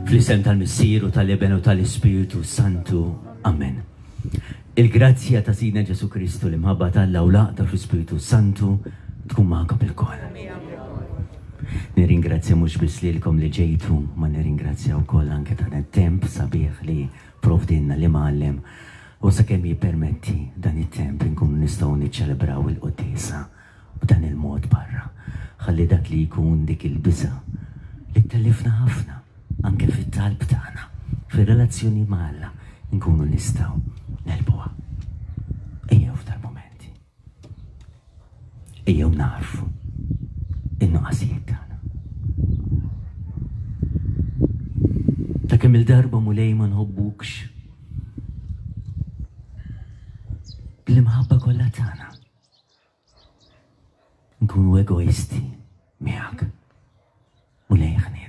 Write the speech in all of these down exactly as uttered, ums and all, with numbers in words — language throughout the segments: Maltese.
Fl-isem tal-Missier u tal-Iben u tal-Ispirtu Santu. Amen. Il-grazzja ta' Sidna Ġesu Kristu, l-imħabba t'Alla u l-għaqda fl-Ispirtu Santu tkun magħkom ilkoll. Nirringrazzja mhux biss lilkom li ġejtu, ma nirringrazzja wkoll anke ta' temp sabiħ li provdinna li mgħallem u sakemm jippermetti dan it-temp inkunu nistgħu niċċelebraw il-quddiesa b'dan il-mod barra. Ħalli dak li jkun dik il-biża' li tellifna ħafna anke fit-talb tagħna, fir-relazzjoni ma' Alla, nkunu nistgħu negħlbuha. Ejjew f'dal-mumenti. Ejjew narfu in-nuqqasijiet tagħna. Ta' kemm il-darba Mulej ma nħobbukx bl-imħabba kollha tagħna. Nkunu egoisti miegħek. Mulej ħnina.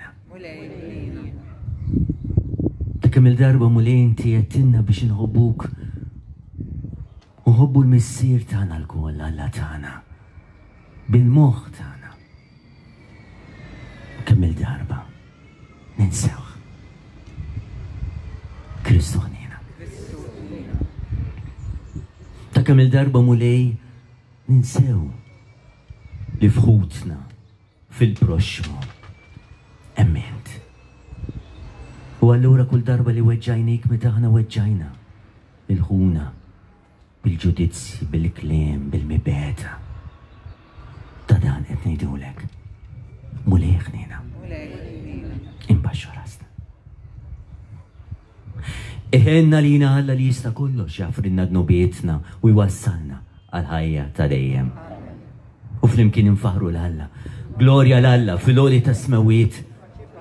Ta' kemm il-darba Mulej inti għedtilna biex inħobbuk u nħobbu l-Missier tagħna lkoll, Alla tagħna, bil-moħħ tagħna. Kemm il-darba ninsewh. Kristu ħnina. Ta' kemm il-darba Mulej ninsew li fħutna fil-proxxmu hemm int. U allura kull darba li weġġajnik meta aħna weġġajna il-ħuna bil-ġudizzji, bil-kliem, bil-mibegħda. Ta' dan qed ngħidulek. Mulej ħnina. Imbaxxu rasna. Iħenna lina Alla li jista' kollox jaħfrilna dnubietna u jwassalna għal-ħajja ta' dejjem. U flimkien infaħru 'l Alla. Glorja 'l Alla fil-għoli tas-smewwiet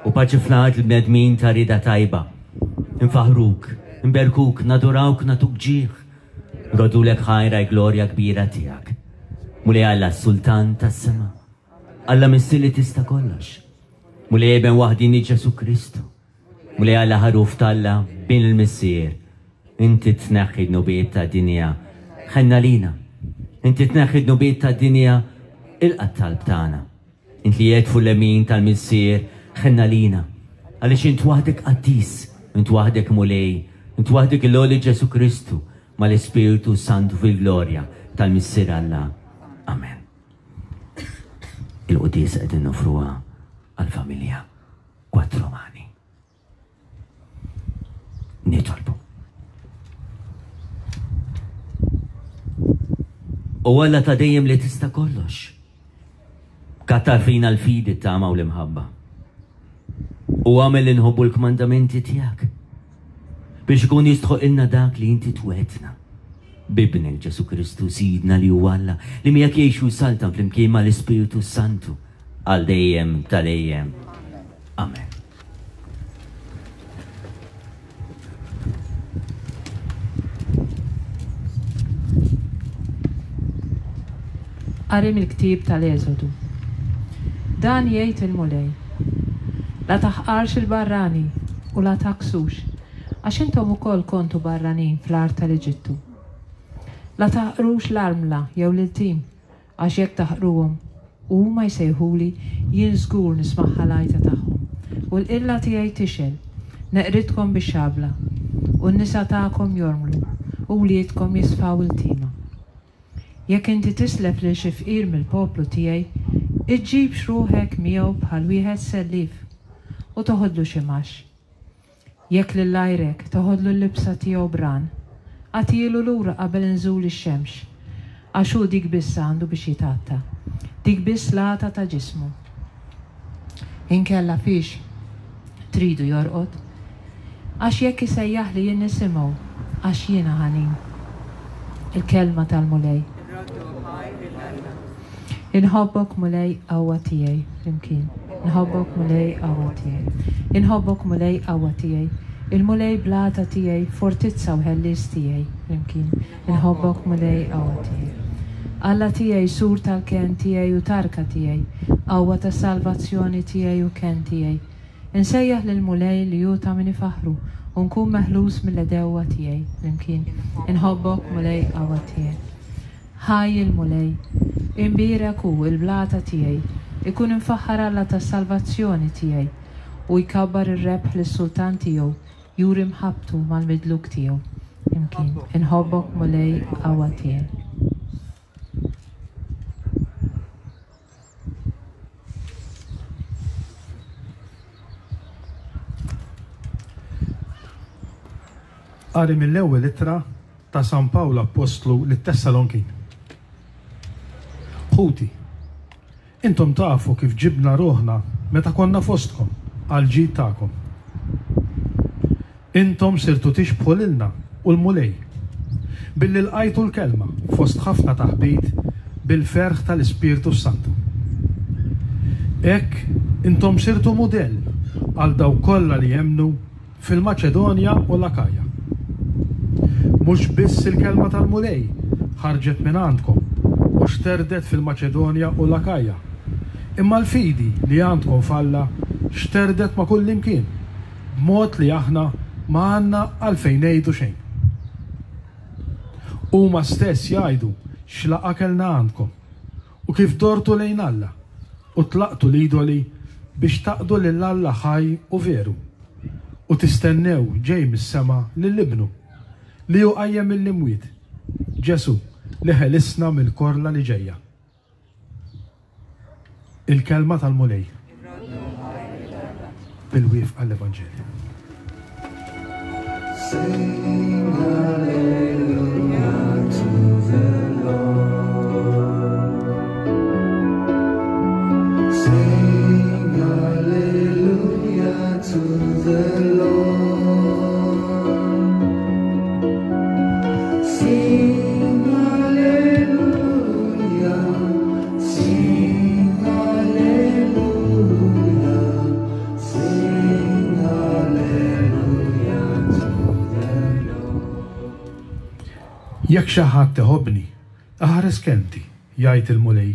u paċi fl-art l-bnedmin ta' rida tajba. Infaħruk, nberkuk, nadurawk, natuk ġieħ. Nroddulek ħajr għall-glorja kbira tiegħek. Mulej Alla sultan tas-sema. Alla Missier li tista' kollox. Mulej Iben waħdini Ġesu Kristu. Mulej Alla ħaruf t'Alla bin il-Missier. Inti tneħħi dnubiet tad-dinja. Ħenn għalina. Inti tneħħi dnubiet tad-dinja ilqa' t-talb tagħna. Inti li qiegħed fuq l-lemin tal-Missier, ħenn għalina. Għaliex int waħdek qaddis, int waħdek Mulej, int waħdek l-għoli Ġesu Kristu mal-Ispirtu Santu fil-glorja tal-Missier Alla. Amen. Il-quddiesa qegħdin noffruha għall-familja Quattromani. Nitolbu. U Alla ta' dejjem li tista' kollox. Kattar fina l-fidi, t-tama u l-imħabba. U agħmel li nħobbu l-kmandamenti tiegħek biex ikun jistħoqilna dak li inti twegħedtna. B'Ibnek Ġesu Kristu Sidna li huwa Alla li miegħek jgħix u jsaltan flimkien mal-Ispirtu Santu għal dejjem ta' dejjem. Amen. Qari mill-ktieb tal-Eżodu. Dan jgħid il-Mulej: La taħqarx il-barrani u la tgħakksux, għax intom ukoll kontu barranin fl-art tal-Eġittu. La taħqrux l-armla jew l-iltim, għax jekk taħqruhom u huma jsejħuli, jien żgur nismagħha l-għajta tagħhom, u l-qilla tiegħi tixgħel, neqridkom bix-xabla, u n-nisa tagħkom jormlu, u wliedkom jisfaw iltiema. Jekk inti tislef lil xi fqir mill-poplu tiegħi, iġġibx ruħek miegħu bħal wieħed sellief u toħodlu xi mgħax. Jekk lil għajrek toħodlu l-libsa tiegħu b'rahan, agħtihielu lura qabel inżul ix-xemx, għax hu dik biss għandu biex jitgħatta, dik biss l-għata ta' ġismu. Inkella fiex tridu jorqod? Għax jekk isejjaħli jien nisimgħu, għax jiena ħanin. Il-kelma tal-Mulej. Inħobbok Mulej qawwa tiegħi, flimkien. Inħobbok Mulej qawwa tiegħi. Inħobbok Mulej qawwa tiegħi. Il-Mulej blata tiegħi, fortizza u ħellies tiegħi, flimkien. Inħobbok Mulej qawwa tiegħi. Alla tiegħi, sur tal-kenn tiegħi u tarka tiegħi, qawwa ta' salvazzjoni tiegħi u kenn tiegħi. Insejjaħ lill-Mulej li hu ta' min ifaħħru u nkun meħlus mill-għedewwa tiegħi, flimkien. Inħobbok Mulej qawwa tiegħi. Ħaj il-Mulej, imbierek hu il-blata tiegħi, ikun imfaħħar Alla tas-salvazzjoni tiegħi, u jkabbar ir-rebħ lis-sultan tiegħu, juri mħabbtu mal-midluk tiegħu. Imkien, inħobbok Mulej qawwa tiegħi. Qari mill-ewwel ittra ta' San Pawl Appostlu lit-Tessalonkin. Ħuti, intom tafu kif ġibna ruħna meta konna fostkom għal ġid tagħkom. Intom sirtu tixbħu lilna u l-Mulej, billi lqajtu l-kelma fost ħafna taħbit bil-ferħ tal-Ispirtu Santu. Hekk intom sirtu mudell għal dawk kollha li jemmnu fil-Maċedonja u l-Akaja. Mhux biss il-kelma tal-Mulej ħarġet minn għandkom u xterdet fil-Maċedonja u l-Akaja, imma l-fidi li għandkom f'Alla xterdet ma' kull imkien, b'mod li aħna ma għandna għalfejn ngħidu xejn. Huma stess jgħidu x'laqa kellna għandkom u kif dortu lejn Alla u tlaqtu l-idoli biex taqdu lil Alla ħaj u veru u tistennew ġej mis-sema lil Ibnu li hu qajjem mill-imwiet, Ġesù li ħelisna mill-korla li ġejja. Il-kelma tal-Mulej. Bil-wifqa l-Evanġelju. Sing hallelujah to the Lord. Sing hallelujah to the Lord. Sing hallelujah, sing hallelujah, sing hallelujah to the Lord. Jekk xi ħadd iħobbni, aħares kelmti, jgħid il-Mulej,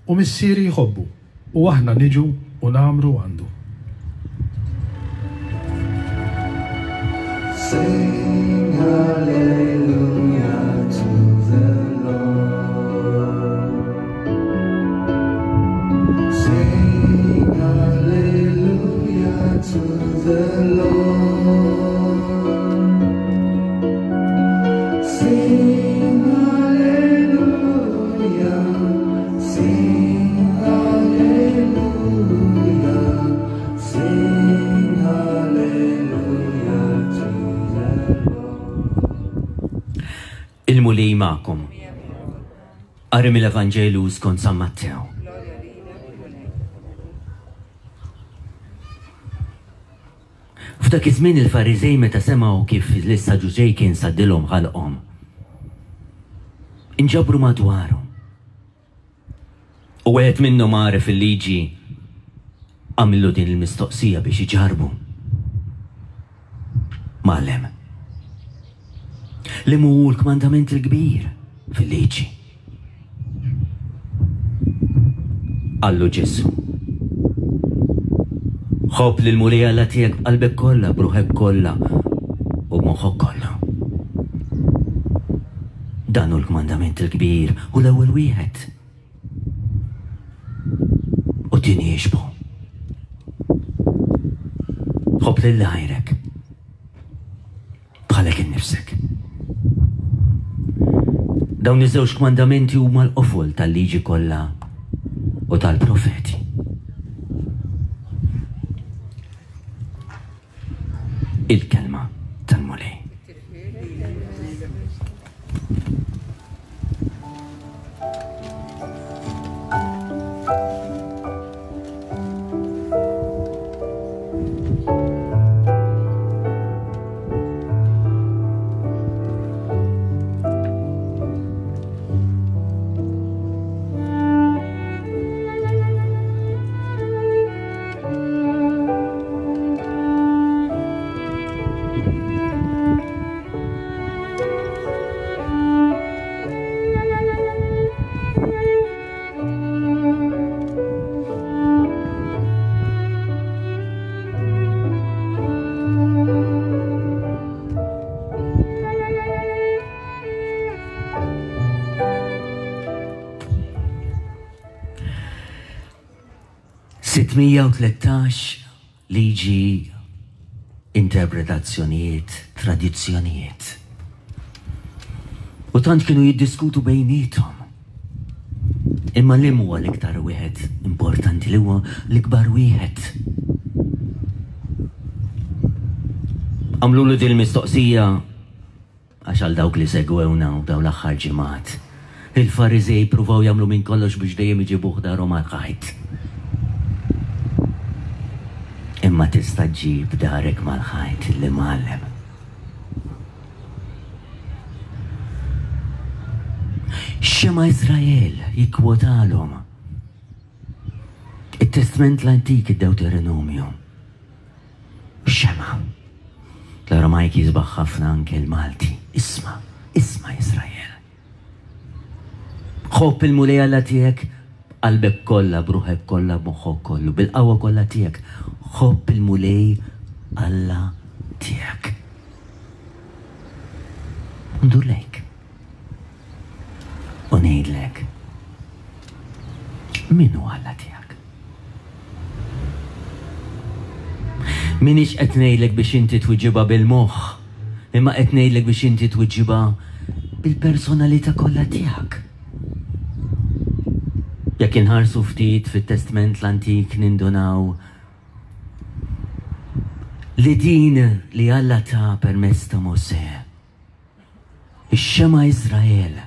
u missieri jħobbu, u aħna niġu u nagħmru għandu. Sing hallelujah to the Lord. Sing hallelujah to the Lord. Sing hallelujah, sing hallelujah, sing hallelujah to the Lord. Il-Mulej magħkom. Qari mill-Evanġelju skont San Mattew. F'dak iż-żmien il-Fariżej meta semgħu kif l-Saġuċej kien saddilhom ħalqhom, inġabru madwarhom. U wieħed minnhom għaref il-liġi għamillu din il-mistoqsija biex iġarbu. Mgħallem, li mhu l-kmandament il-kbir fil-liġi? Qallu Ġesù, ħobb lill-Mulej Alla tiegħek b'qalbek kollha, b'ruħek kollha u b'moħħok kollu. Dan hu l-kmandament il-kbir u l-ewwel wieħed. U tieni jixbhu. Ħobb lil għajrek bħalek innifsek. Dawn iż-żewġ kmandamenti huma l-qofol tal-liġi kollha u tal-profeti. Il-kelma tal-Mulej. sitt mija u tlettax liġi, interpretazzjonijiet, tradizzjonijiet. U tant kienu jiddiskutu bejniethom. Imma li huwa l-iktar wieħed importanti, li huwa l-ikbar wieħed? Għamlulu din mistoqsija għax għal dawk li segwewna u daw l-aħħar ġimgħat, il-Fariżej pruvaw jagħmlu minn kollox biex dejjem iġibuh darhom mal-ħajt. Imma tista' ġġib darek mal-ħajt l-imgħallem. Xema Izrael jikkwotalhom it-Testment l-Antik, id-Deuteronomju. Xema. L-Aramajk jisbaħ ħafna, anke l-Malti. Isma', isma' Izrael. Ħobb il-Mulej Alla tiegħek b'qalbek kollha, b'ruħek kollha, b'moħħok kollu, bil-qawwa kollha tiegħek. Ħobb il-Mulej Alla tiegħek. Ndur lejk u ngħidlek, min hu Alla tiegħek? M'iniex qed ngħidlek biex inti twiġibha bil-moħħ, imma qed ngħidlek biex inti twiġibha bil-personalità kollha tiegħek. Jekk inħarsu ftit fit-Testment l-Antik nindunaw li din li Alla ta permezz ta' Mosè, ix-Xema Izrael,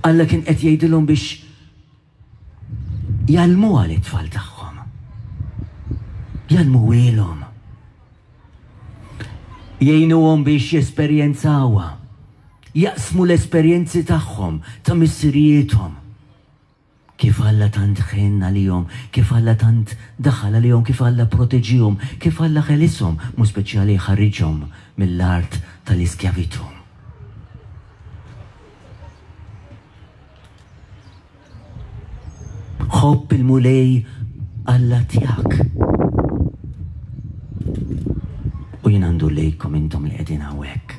Alla kien qed jgħidilhom biex jgħallmuha lit-tfal tagħhom. Jgħallmuhielhom. Jgħinuhom biex jesperjenzawha. Jaqsmu l-esperjenzi tagħhom ta' missirijiethom. Kif Alla tant ħenn għalihom, kif Alla tant daħal għalihom, kif Alla proteġihom, kif Alla ħelishom, mu speċjali ħarriġhom mill-art tal-iskjavitu. Ħobb il-Mulej Alla tiegħek. U jien għandu lejkom intom li qegħdin hawnhekk.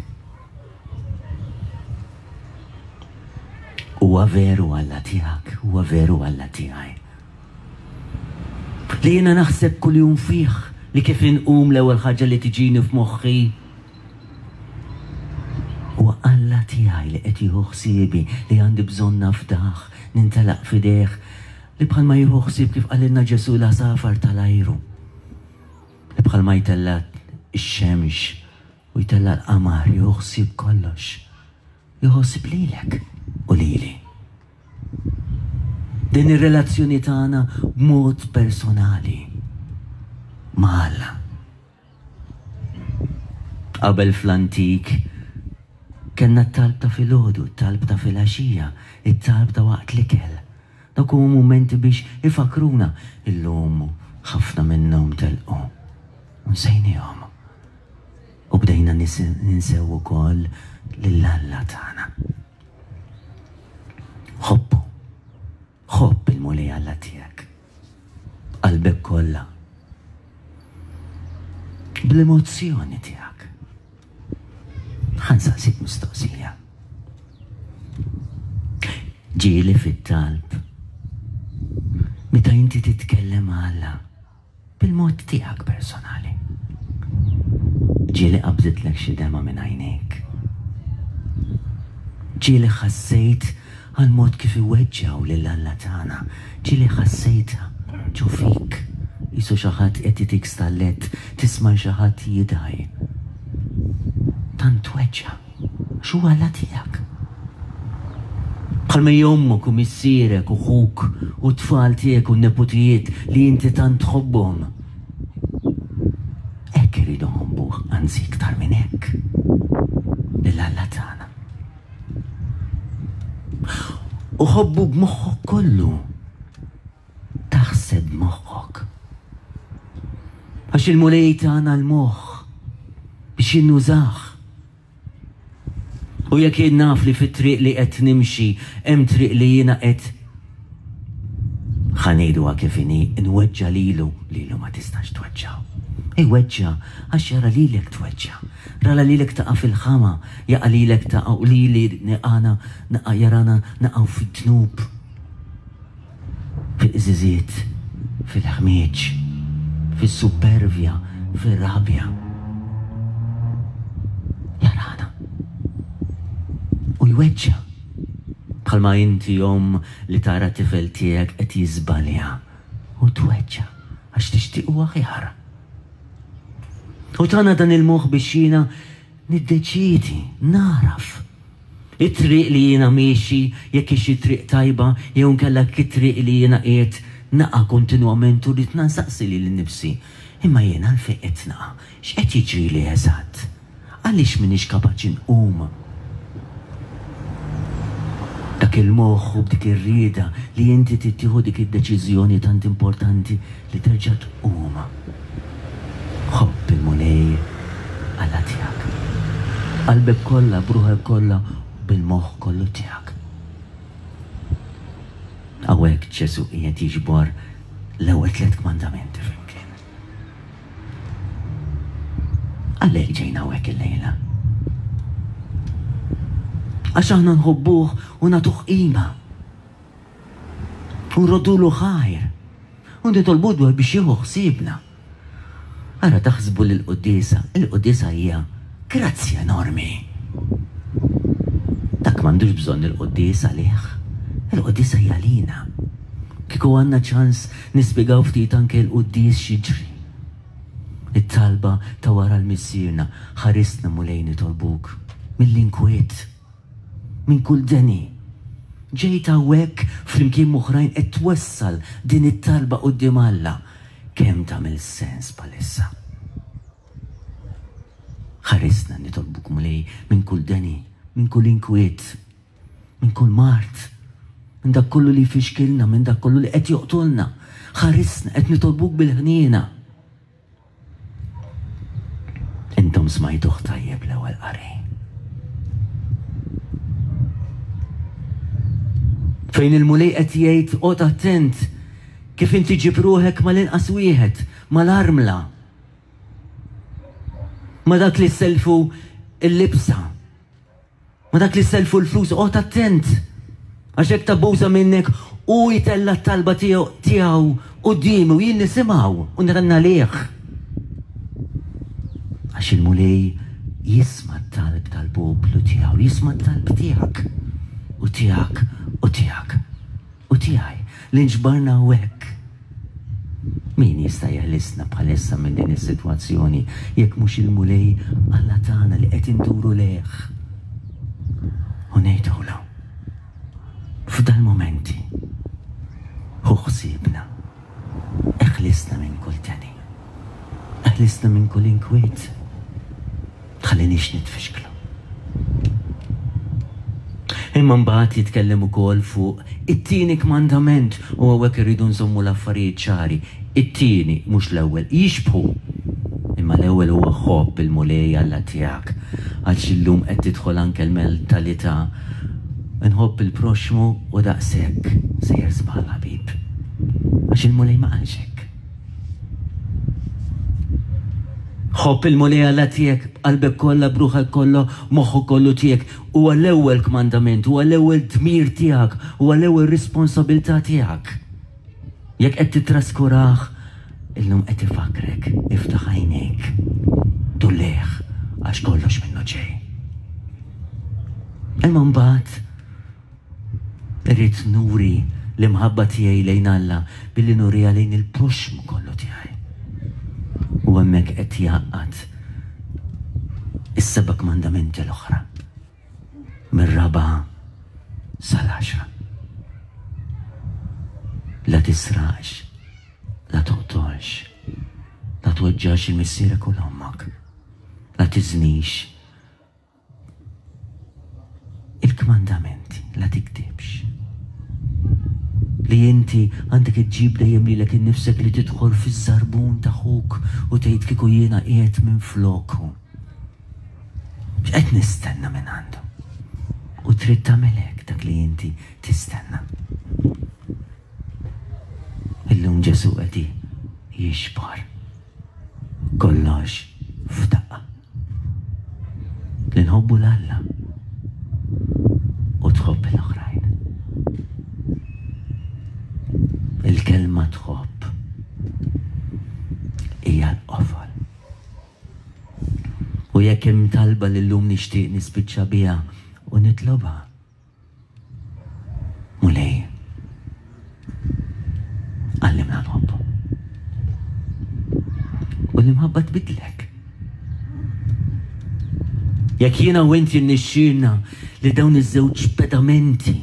Huwa veru Alla tiegħek, huwa veru Alla tiegħi. Li jiena naħseb kuljum fih, li kif inqum l-ewwel ħaġa li tiġini f'moħħi huwa Alla tiegħi li qed jieħu ħsiebi, li għandi bżonn nafdah, nintelaq f'idejh, li bħalma jieħu ħsieb kif qalilna Ġesù l-għasafar tal-ajru, li bħalma jtella' x-xemx u jtella' l-qamar, jieħu ħsieb kollox, jieħu ħsieb lilek u lili. Din ir-relazzjoni tagħna b'mod personali ma' Alla. Qabel fl-antik kellna t-talb ta' filgħodu, t-talb ta' filgħaxija, it-talb ta' waqt l-ikel. Dawk huma mumenti biex ifakruna. Illum ħafna minnhom telqu. Nsejnihom. U bdejna ninsew ukoll lil Alla tagħna. Ħobbu. Ħobb il-Mulej Alla tiegħek. Qalbek kollha. Bl-emozzjoni tiegħek. Ħa nsaqsik mistoqsija. Ġieli fit-talb meta inti titkellem ma' Alla bil-mod tiegħek personali, ġieli qabżitlek xi dema minn għajnejk. Ġieli ħassejt għal mod kif iweġġgħu lil Alla tagħna, ġieli ħassejtha ġo fik. Qisu xi ħadd qed itik stallett, tisma' xi ħadd jidgħi. Tant tweġġa' għax hu Alla tiegħek. Bħalma hi ommok u missierek u ħuk u t-tfal tiegħek u n-neputijiet li inti tant tħobbhom. Hekk irridu nħobbuh, anzi iktar minn hekk, lil Alla tagħna. U ħobbu b'moħħok kollu. Taħseb b'moħħok. Għax il-Mulej tagħna l-moħħ biex jinnużah. U jekk jien naf li fit-triq li qed nimxi hemm triq li jiena qed ħa ngħiduha kif inhi, nweġġa' lilu, lilu ma tistax tweġġa'. Iweġġa' għax jara lilek tweġġa'. Rara lilek taqa' fil-ħama, jaqa' lilek taqa' u lili għana naqa' jarana naqgħu fid-dnub, fil-qżiżiet, fil-ħmieġ, fis-supervja, fir-rabja. Jarana. U jweġġa'. Bħalma inti omm li tara tifel tiegħek qed jiżbalja u tweġġa' għax tixtiequ aħjar. U tana dan il-moħħ biex jiena niddeċiedi, naraf. It-triq li jiena miexi, jekk hix it-triq tajba, jew inkella jekk it-triq li jiena qiegħed naqa' kontinwament u rrid nansaqsi lili nnifsi. Imma jiena għalfejn qed naqa'? X'qed jiġrili eżatt? Għaliex m'iniex kapaċi nqum? Dak il-moħħ u b'dik ir-rieda li inti trid tieħu dik id-deċiżjoni tant importanti li terġa' tqum. Ħobb il-Mulej Alla tiegħek. Qalbek kollha, b'ruħek kollha, bil-moħħ kollu tiegħek. Hawnhekk Ġesù qiegħed jiġbor l-ewwel tliet kmandamenti flimkien. Għalhekk ġejna hawnhekk illejla. Għax aħna nħobbuh u nagħtuh qima. U nroddulu ħajr. U nitolbu dwar biex jieħu ħsiebna. Ara taħsbu li l-quddiesa, il-quddiesa hija grazzja enormi. Dak m'għandux bżonn il-quddiesa għalih. Il-quddiesa hija lina. Kieku għandna ċans nispjegaw ftit anke l-quddies x'jiġri. It-talba ta' wara l-Missierna, ħarisna Mulej nitolbuk mill-inkwiet, minn kull deni. Ġejt hawnhekk flimkien m'oħrajn qed twessal din it-talba quddiem Alla. Kemm tagħmel sens bħalissa. Ħarisna nitolbuk Mulej minn kull deni, minn kull inkwiet, minn kull mard, minn dak kollu li jfixkilna, minn dak kollu li qed joqtolna. Ħarisna qed nitolbuk bil-ħniena. Intom smajtuh tajjeb l-ewwel qari. Fejn il-Mulej qed jgħid oqgħod attent kif inti ġib ruħek mal-inqas wieħed, mal-armla, ma dak li selfu l-libsa, ma dak li selfu l-flus, oqgħod attent. Għax hekk tabbuża minnek u jtella t-talba tiegħu quddiemi u jien nisimgħu u nrenna lih. Għax il-Mulej jisma' t-talb tal-poplu tiegħu, jisma' t-talb tiegħek u tiegħek u tiegħek u tiegħi li nġbarna hawnhekk. Min jista' jeħlisna bħalissa minn din is-sitwazzjoni jekk mhux il-Mulej Alla tagħna li qed induru lejh u ngħidulu f'dal-momenti ħu ħsiebna, eħlisna minn kull deni, eħlisna minn kull inkwiet, tħallinix nitfixklu. Imma mbagħad jitkellem ukoll fuq it-tieni kmandament u hawnhekk irridu nżommu l-affarijiet ċari. It-tieni mhux l-ewwel, jixbħu. Imma l-ewwel huwa ħobb il-Mulej Alla tiegħek. Għax illum qed tidħol anke l-mentalità nħobb il-proxmu u daqshekk sejjer żball ħabib. Għax il-Mulej ma qalx hekk. Ħobb il-Mulej Alla tiegħek b'qalbek kollha, b'ruħek kollha, moħħok kollu tiegħek. Huwa l-ewwel kmandament, huwa l-ewwel dmir tiegħek, huwa l-ewwel responsabilità tiegħek. Jekk qed titraskurah, illum qed ifakrek, iftaħ għajnejk, dulleh għax kollox minnu ġej. Imma mbagħad irrid nuri l-imħabba tiegħi lejn Alla billi nuriha lejn il-proxxmu kollu tiegħi. U hemmhekk qed jgħaqqad is-seba' kmandamenti l-oħra mir-raba' sal-għaxra. La tisraqx, la toqtolx, la tweġġax il-missierek u l-ommok, la tiżnix. Il-kmandamenti, la tikdibx. Li inti għandek iġġib dejjem lilek innifsek li tidħol fiż-żarbun ta' ħuk u tgħid kieku jiena qiegħed minn floku. X'qed nistenna minn għandu? U trid tagħmel hekk dak li inti tistenna. Illum Ġesù qed jixbar kollox f'daqqa. Li nħobbu 'l Alla u tħobb l-oħrajn. Il-kelma tħobb hija l-qofol. U jekk hemm talba li llum nixtieq nispiċċa biha u nitlobha, Mulej, għallimna nħobbu. U l-imħabba tbidlek. Jekk jiena u inti nnixxielna li dawn iż-żewġ pedamenti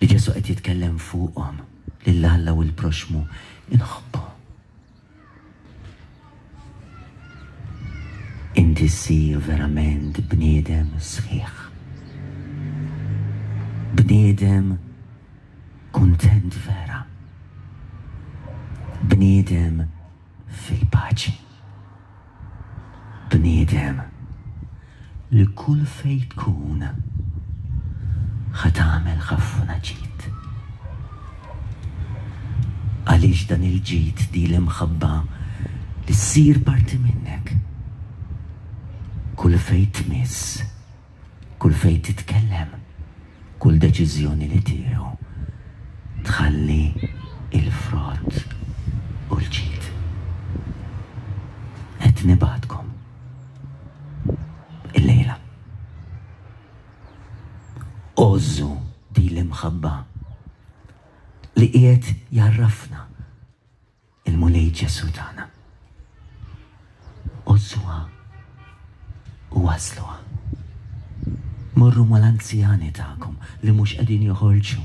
li Ġesù qed jitkellem fuqhom lil Alla u l-proxxmu inħobbu, inti ssir verament bniedem sħiħ. Bniedem kuntent vera. Bniedem fil-paċi. Bniedem li kull fejn tkun ħa tagħmel ħafna ġid. Għaliex dan il-ġid, di l-imħabba li ssir parti minnek, kull fejn tmiss, kull fejn titkellem, kull deċiżjoni li tieħu, tħalli il-frott u l-ġid. Qed nibgħatkom illejla. Għożżu di l-imħabba li qiegħed jarrafna il-Mulej Ġesù tagħna. Għożżuha u wasluha. Morru mal-anzjani tagħkom li mhux qegħdin joħorġu.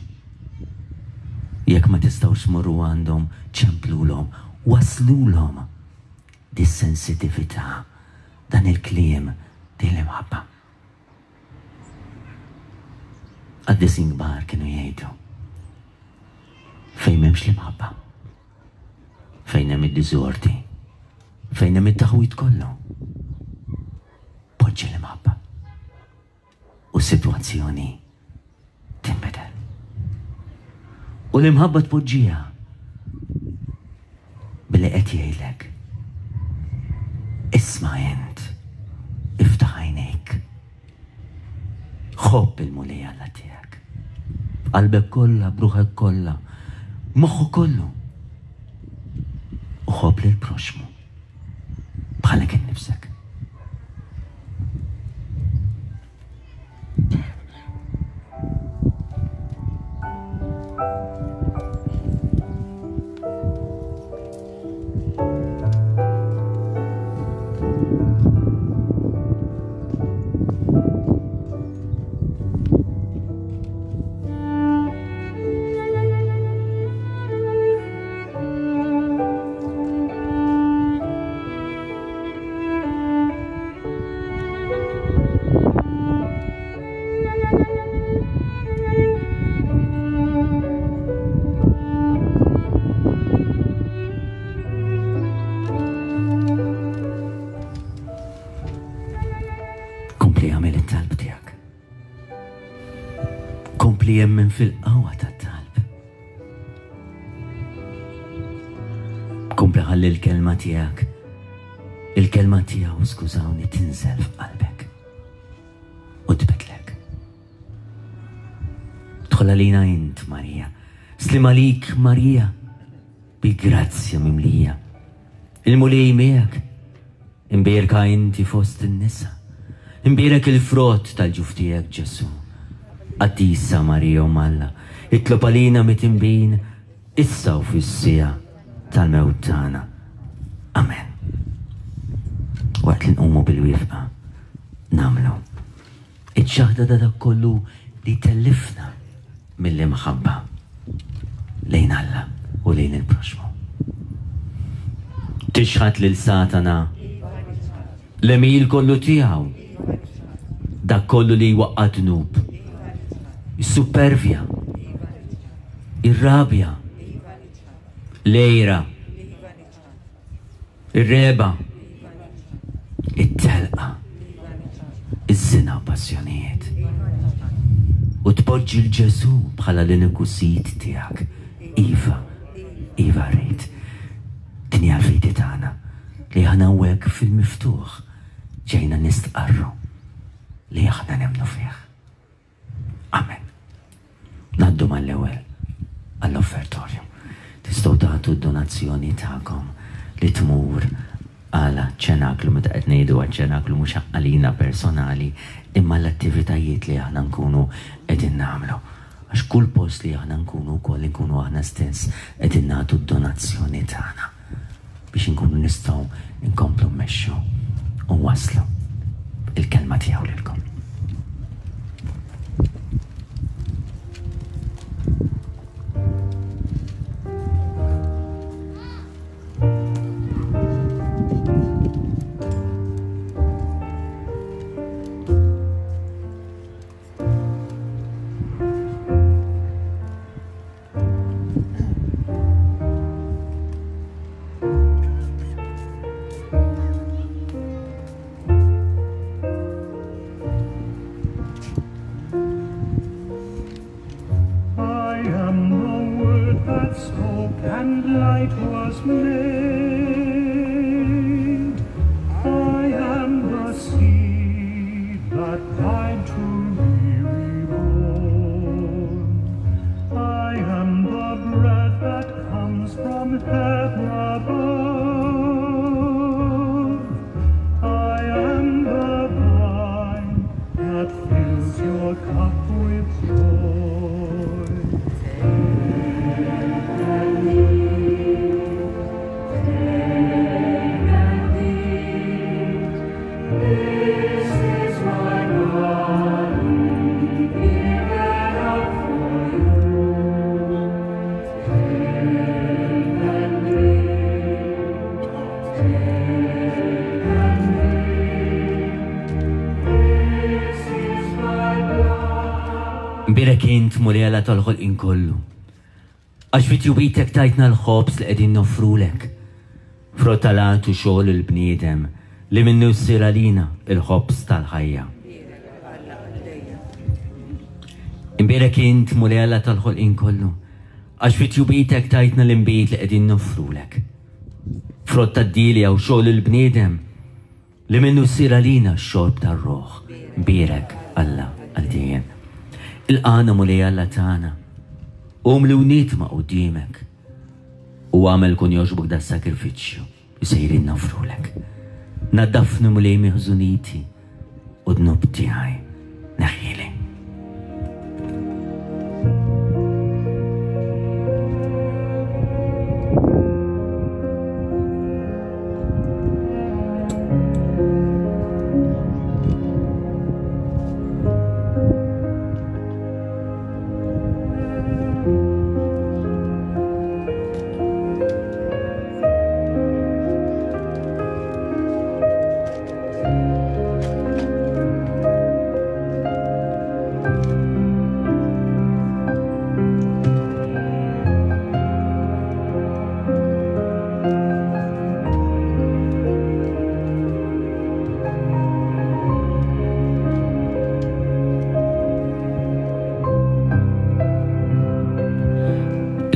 Jekk ma tistgħux tmorru għandhom, ċemplulhom, waslulhom dis-sensitività, dan il-kliem, din l-imħabba. Qaddisin kbar kienu jgħidu, fejn m'hemmx l-imħabba, fejn hemm id-diżordi, fejn hemm it-taħwid kollu, poġġi l-imħabba u s-sitwazzjoni tinbidel. U l-imħabba tpoġġiha billi qed jgħidlek, isma' int, iftaħ għajnejk, ħobb il-Mulej Alla tiegħek, b'qalbek kollha, b'ruħek kollha, moħħu kollu, u ħobb lil proxxmu bħalek innifsek. Kompli jemmen fil-qawwa tat-talb. Kompli ħalli l-kelma tiegħek, il-kelma tiegħu, skużawni, tinżel f'qalbek u tbidlek. Dħol għalina int, Marija. Slim għalik, Marija, bil-grazzja mimlija. Il-Mulej miegħek, imbierka inti fost in-nisa. Imbierek il-frott tal-ġuf tiegħek Ġesù. Qaddisa Marija Omm Alla, itlob għalina mitinbin issa u fis-siegħa tal-mewt tagħna. Amen. Waqt li nqumu bil-wifqa nagħmlu iċ-ċaħda ta' dak kollu li tellifna mill-imħabba lejn Alla u lejn il-proxmu. Tixħat lil Satana l-għemil kollu tiegħu, dak kollu li jwaqqa' dnub, is-supervja, ir-rabja, l-għira, ir-reba, it-telqa, iż-żina u passjonijiet. U tpoġġi l Ġesù bħala l-uniku sid tiegħek. Iva, iva rrid. Din hija l-fidi tagħna li aħna hawnhekk fil-miftuħ ġejna nistqarru li aħna nemmnu fih. Amen. Ngħaddu mal-ewwel għall-offertorju. Tistgħu tagħtu d-donazzjoni tagħkom li tmur għal ċenaklu, meta qed ngħidu għal ċenaklu mhux għalina personali, imma l-attivitajiet li aħna nkunu qegħdin nagħmlu. Għax kull post li aħna nkunu wkoll nkunu aħna stess qegħdin nagħtu d-donazzjoni tagħna biex inkunu nistgħu nkomplu mmexxu u nwasslu il-kelma tiegħu lilkom. Imbierek int Mulej Alla tal-ħolqien kollu, għax fi tjubitek tajtna l-ħobż li qegħdin noffrulek, frott tal-art u xogħol il-bniedem li minnu ssir għalina il-ħobż tal-ħajja. Imbierek int Mulej Alla tal-ħolqien kollu, għax fi tjubitek tajtna l-inbid li qegħdin noffrulek, frott tad-dilja u xogħol il-bniedem li minnu ssir għalina x-xorb tar-ruħ. Imbierek Alla għal dejjem. Il-qana Mulej Alla tagħna, qum li wnit ma' quddiemek u għamel kun jogħġbok da sakrifiċċju li sejrin nofrulek. Naddafni Mulej miħżuniti u dnub tiegħi neħħieli.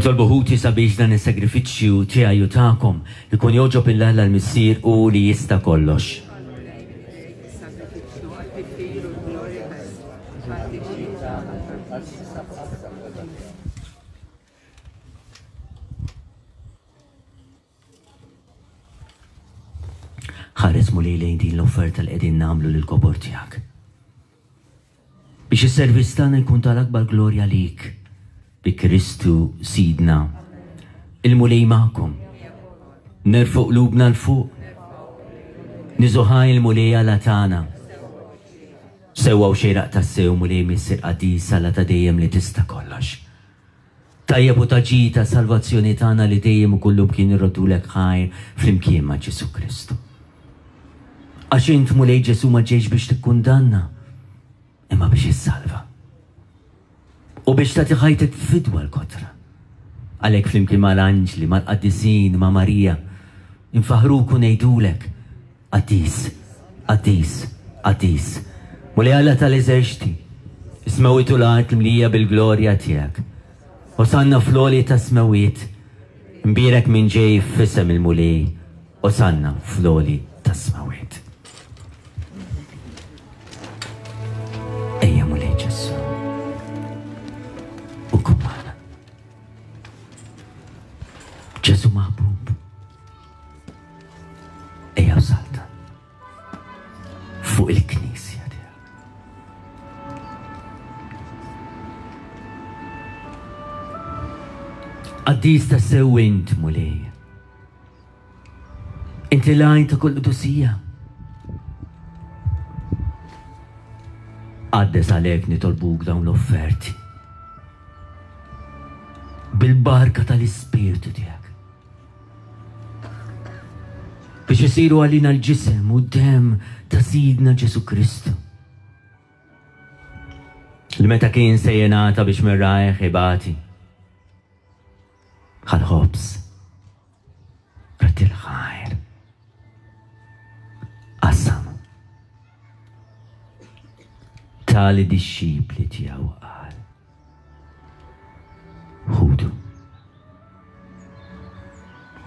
Itolbu ħuti sabiex dan is-sagrifiċċju tiegħi u tagħkom ikun jogħġob lil Alla l-Missier u li jista' kollox. Ħares Mulej Mulej lejn din l-offerta li qegħdin nagħmlu lill-kobor tiegħek. Biex is-servizz tagħna jkun tal-akbar glorja lik bi Kristu Sidna. Il-Mulej magħkom. Nerfgħu qlubna 'l fuq. Niżżu ħajr il-Mulej Alla tagħna. Sewwa u xieraq tassew Mulej Missier Qaddis Alla ta' dejjem li tista' kollox. Tajjeb u ta' ġid ta' salvazzjoni tagħna li dejjem u kullimkien irroddulek ħajr flimkien ma' Ġesù Kristu. Għax int Mulej Ġesù ma ġejx biex tikkundanna, imma biex issalva. U biex tagħti ħajtek fidwa l-kotra. Għalhekk flimkien mal-anġli, mal-qaddisin, ma' Marija, infaħruk u ngħidulek, Qaddis, qaddis, qaddis. Mulej Alla tal-eżerċti, is-smewwiet u l-art mlija bil-glorja tiegħek. Osanna fl-għoli tas-smewwiet, mbierek min ġej f'isem il-Mulej, Osanna fl-għoli tas-smewwiet. Ejja Mulej Ġesù, u kun magħna. Ġesù maħbub, ejja u saltan fuq il-Knisja tiegħek. Qaddis tassew int, Mulej. Inti l-għajn ta' kull qdusija. Qaddes għalhekk nitolbuk dawn l-offerti. Bil-barka tal-Ispirtu tiegħek. Biex isiru għalina l-ġisem u d-demm ta' Sidna Ġesù Kristu. Li meta kien se jingħata biex minn rajh ibati. Ħa l-ħobż, radd il-ħajr, qasam, ta lid-dixxipli tiegħu qal, ħudu,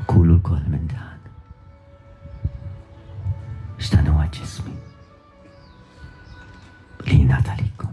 kulu lkoll minn dan, x'dan huwa ġismi li jingħata likom.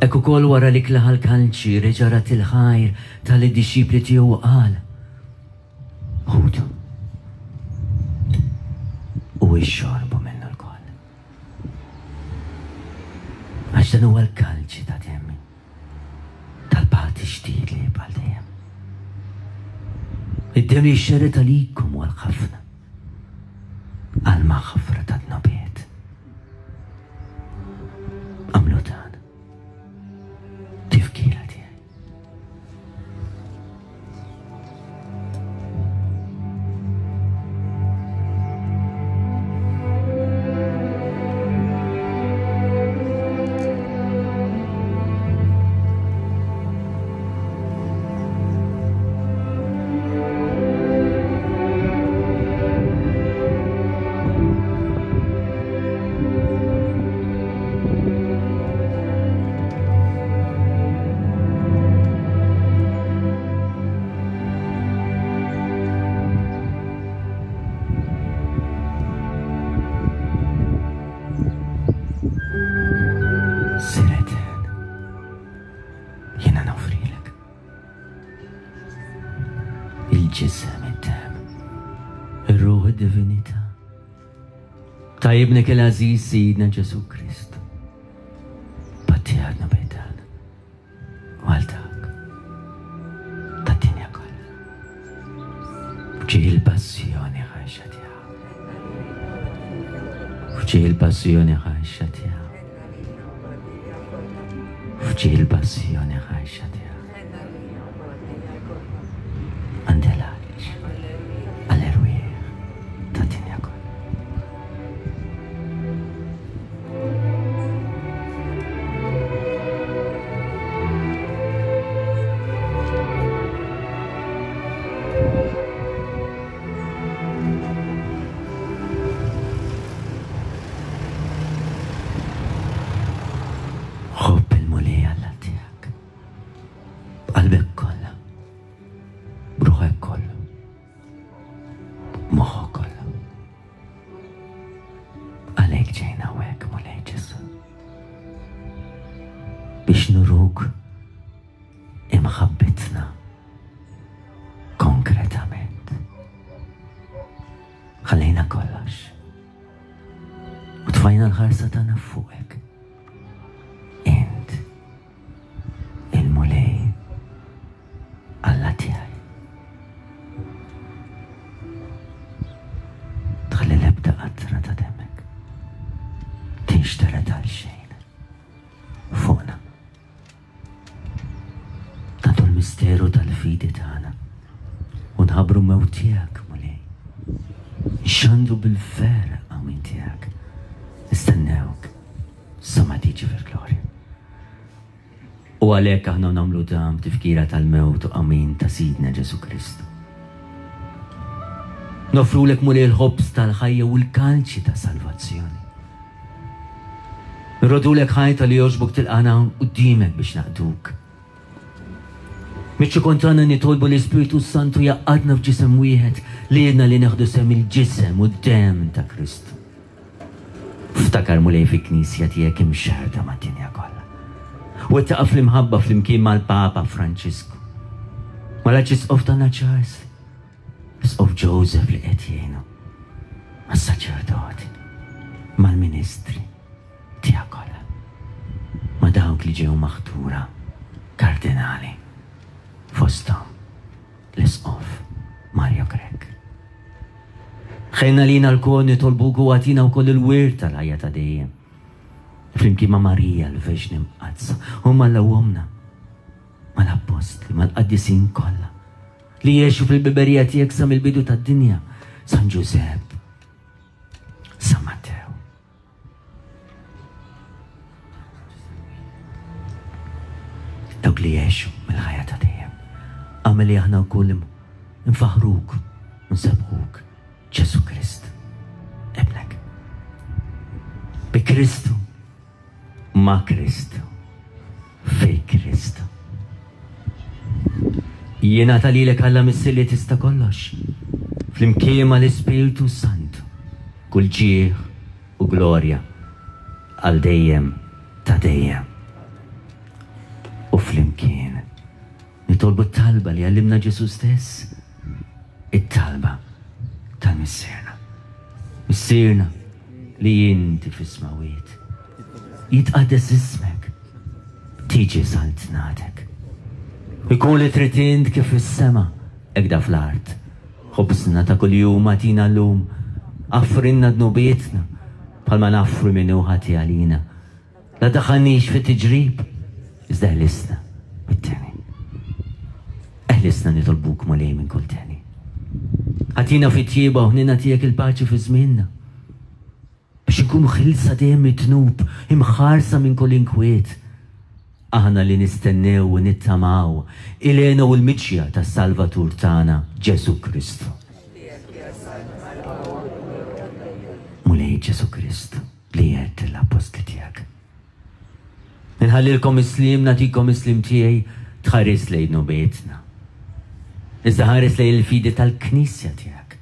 Hekk ukoll wara li klaħal kalċi reġa' rat il-ħajr tal-dixxipli tiegħu qal, ħudu u ixorbu minnu lkoll. Għax dan huwa l-kalċi ta' demmi tal-patt ġdid li jibqa' dejjem. Id-demm li jxerred għalikom u għal ħafna għal maħfra ta' dnubiet. Għamlu dan tifkira tiegħi. Il-ġisem, id-demm, ir-ruħ, id-divinità ta' ibnek il-għażiż Sidna Ġesù Kristu. Patti għadna bejdan u għal dak tad-dinja kollha. F'ġieħ il-passjoni ħajxa tiegħu. F'ġieħ il-passjoni ħajxa tiegħu. F'ġieħ il-passjoni ħajxa tiegħu. Għandela għaliex. nuruk imħabbitna konkretament. Ħallejna kollox. U tfajna l-ħarsa tagħna fuqek. Int il-Mulej Alla tiegħi. Tħalli l-ebda qatra ta' demmek tinxtered għal xejn fuqna. Nagħtu l-misteru tal-fidi tagħna u nħabbru mewt tiegħek, Mulej. Nxandru bil-ferħ qawmien tiegħek. Nistennewk sa ma tiġi fil-glorja. U għalhekk aħna nagħmlu dan b'tifkira tal-mewt u qawmien ta' Sidna Ġesù Kristu. Nofrulek, Mulej, il-ħobż tal-ħajja u l-kalċi ta' salvazzjoni. Nroddulek ħajr talli jogħġbok tilqagħna quddiemek biex naqduk. Miċ-ċokon tagħna nitolbu l-Ispirtu Santu jgħaqqadna f'ġisem wieħed lilna li nieħdu sehem il-ġisem u d-dem ta' Kristu. Ftakar, Mulej, fil-Knisja tiegħek imxerrda mad-dinja kollha. U wettaqha fl-imħabba flimkien mal-Papa Franċisku, mal-Arċisqof tagħna Charles, l-Isqof Joseph li qed jgħinu, mas-saċerdoti, mal-ministri tiegħek kollha, ma' dawk li ġew maħtura kardinali, fosthom l-Isqof Mario Grech. Ħenn għalina lkoll nitolbuk u agħtina wkoll il-wirt tal-ħajja ta' dejjem. Flimkien ma' Marija l-Verġni Mqaddsa, u Alla Ommna, mal-Appostli, mal-Qaddisin kollha li jgħixu fil-ħbiberija tiegħek sa mill-bidu tad-dinja, San Ġużepp, San Mattew. Dawk li jgħixu mill-ħajja ta' dejjem. Agħmel li aħna wkoll nfaħruk u nsebbħuk, Ġesù Krist, Ibnek. Bi Kristu, ma' Kristu, fi Kristu. Jiena lilek Alla Missier li tista' kollox, flimkien mal-Ispirtu Santu, kull ġieħ u glorja għal dejjem ta' dejjem. U flimkien nitolbu t-talba li għallimna Ġesù stess, it-talba tal-Missierna. Missierna li inti fis-smawiet, jitqaddes ismek, tiġi saltnatek. Ikun li trid int kif fis-sema, hekk fl-art. Ħobżna ta' kuljum agħtina llum, aħfrilna dnubietna, bħalma naħfru min hu ħati għalina. La ddaħħalniex fit-tiġrib, iżda eħlisna mit-deni. Eħlisna nitolbuk, Mulej, minn kull deni. Agħtina fit-tjieba u ħniena tiegħek il-paċi fi żmienna. Biex nkunu ħielsa dejjem mid-dnub, imħarsa minn kull inkwiet. Aħna li nistennew u nittamaw il-hena u l-miġja tas-Salvatur tagħna Ġesù Kristu. Mulej Ġesù Kristu li għedt l-appostli tiegħek. Inħallilkom is-sliem, nagħtikom is-sliem tiegħi, tħares lejn dnubietna. Iżda ħares lejn il-fidi tal-Knisja tiegħek.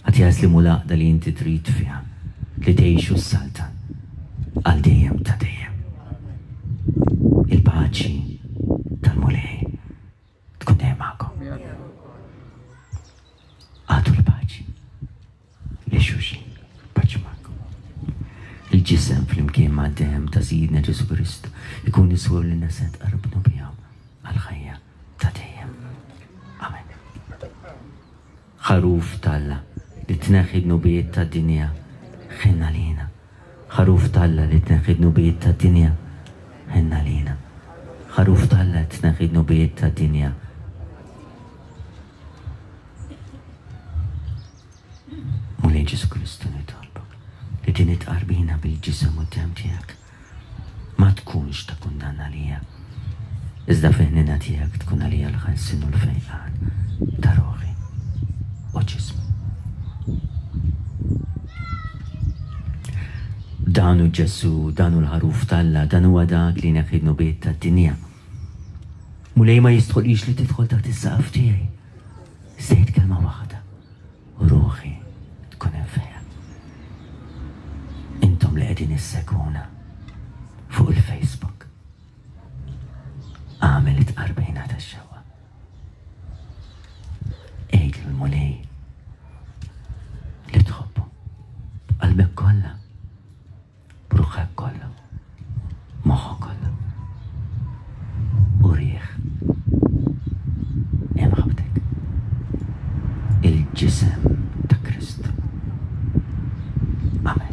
Agħtiha s-sliem u l-għaqda li inti trid fiha, li tgħix u ssaltan għal dejjem ta' dejjem. Il-paċi tal-Mulej tkun dejjem magħkom. Agħtu l-paċi lil xulxin, paċi magħkom. Il-ġisem flimkien ma' demm ta' Sidna Ġesù Kristu ikun iswur li naset qarbnu bihom għal-ħajja ta' dejjem. Amen. Ħaruf t'Alla li tneħħi dnubiet tad-dinja, ħenn għalina. Ħaruf t'Alla li tneħħi dnubiet tad-dinja, ħenn għalina. Ħaruf t'Alla li tneħħi dnubiet tad-dinja. Mulej Ġesù Kristu nitolbok li din it-tqarbina bil-ġisem u d-demm tiegħek ma tkunx ta' kundanna għalija, iżda fil-ħniena tiegħek tkun għalija l-ħelsien u l-fejqan ta' ruħi u ġismi. Dan hu Ġesù, dan hu l-ħaruf t'Alla, dan huwa dak li jneħħi dnubiet tad-dinja. Mulej ma jistħoqlix li tidħol taħt is-saqaf tiegħi. Sejt kelma waħda u ruħi tkun infejja. Intom li qegħdin issegwuna fuq il-Facebook, It-tqarbina tax-xewqa. Għid lill-Mulej li tħobbu b'qalbek kollha, b'ruħek kollha, moħħok kollha. Urih imħabbtek, il-ġisem ta' Kristu. Amen.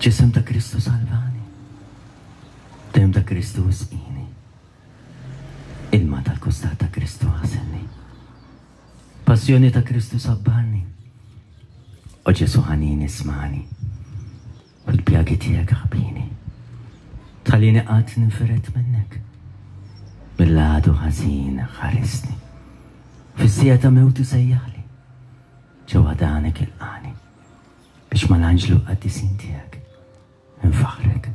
Ġisem ta' Kristu salvani, dem ta' Kristu isqini, ilma tal-kustat ta' Kristu ħaselni, passjoni ta' Kristu sabbarni, o Ġesu ħanin ismani, fil-pjagi tiegħek ħbini, tħallini qatt ninfired minnek, mill-għadu ħażin ħarisni, fis-sija ta' mewti sejjaħli, ġewwa danek ilqani, biex mal-anġlu qaddisin tiegħek nfaħrek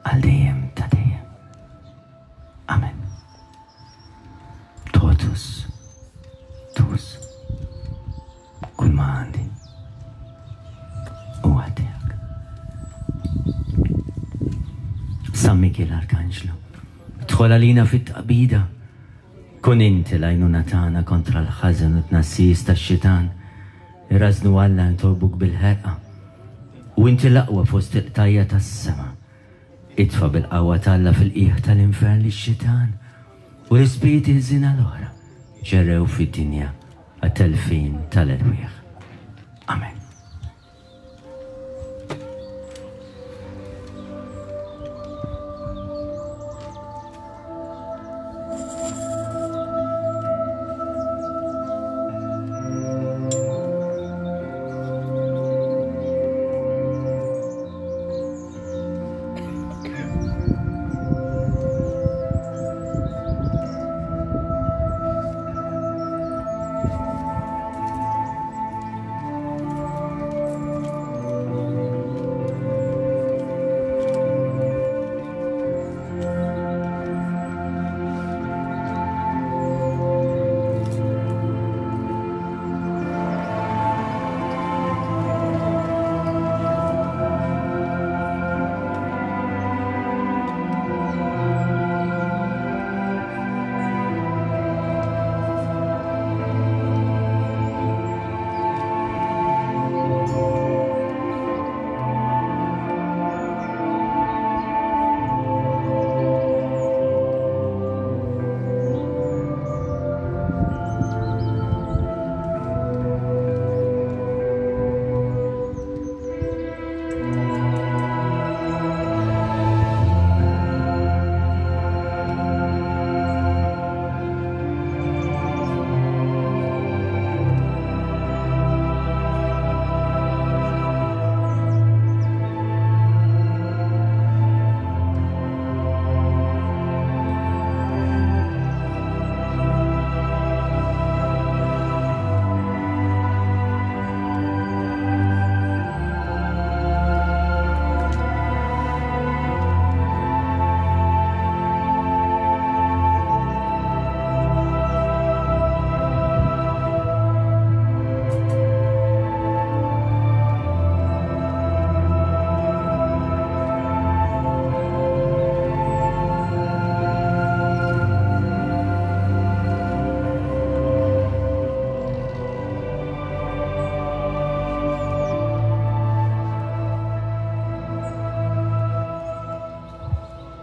għal dejjem ta' dejjem. Amen. Totus, tus, kull ma għandi huwa tiegħek. San Mikiel Arkanġlu, dħol għalina fit-tqabida, kun inti l-għajnuna tagħna kontra l-ħażen u t-tnassis tax-xitan. Irrażnu Alla nitolbuk bil-ħerqa, u inti l-aqwa fost il-qtajja tas-sema. Itfa' bil-qawwa t'Alla fil-qiegħ tal-infern lix-xitan u l-ispiriti ħżiena l-oħra ġerew fid-dinja għat-telfin tal-erwieħ. Amen.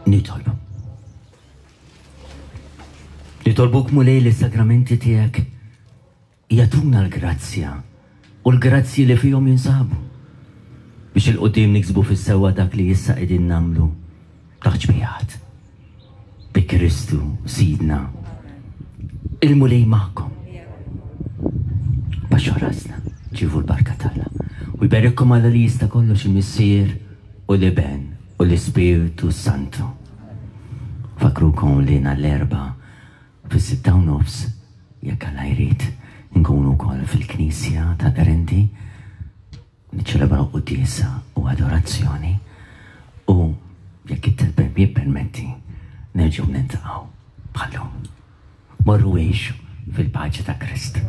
Nitolbu. Nitolbuk, Mulej, li s-sagramenti tiegħek jagħtuna l-grazzja u l-grazzji li fihom jinsabu biex 'il quddiem niksbu fis-sewwa dak li issa qegħdin nagħmlu taħt xbihat. Bi Kristu Sidna. Il-Mulej magħkom. Baxxu rasna, irċievu l-barka t'Alla. U jberikkom Alla li jista' kollox, il-Missier u l-Iben u l-Ispirtu Santu. Infakkrukom li nhar l-Erbgħa fis-sitta u nofs, jekk Alla jrid, nkunu wkoll fil-Knisja tal-Qrendi niċċelebraw quddiesa u adorazzjoni u jekk it-temp jippermetti nerġgħu niltaqgħu bħal-lum. Morru għixu fil-paċi ta' Kristu.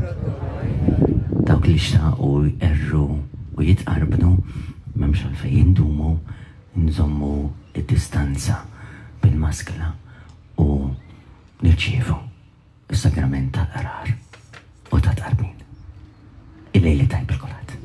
Dawk li xtaqu jqerru u jitqarbnu, m'hemmx għalfejn jindumu, nżommu id-distanza bil-maskla u nirċievu is-sagrament tal-qrar u ta' tqarbin. Il-lejl it-tajjeb lil kulħadd.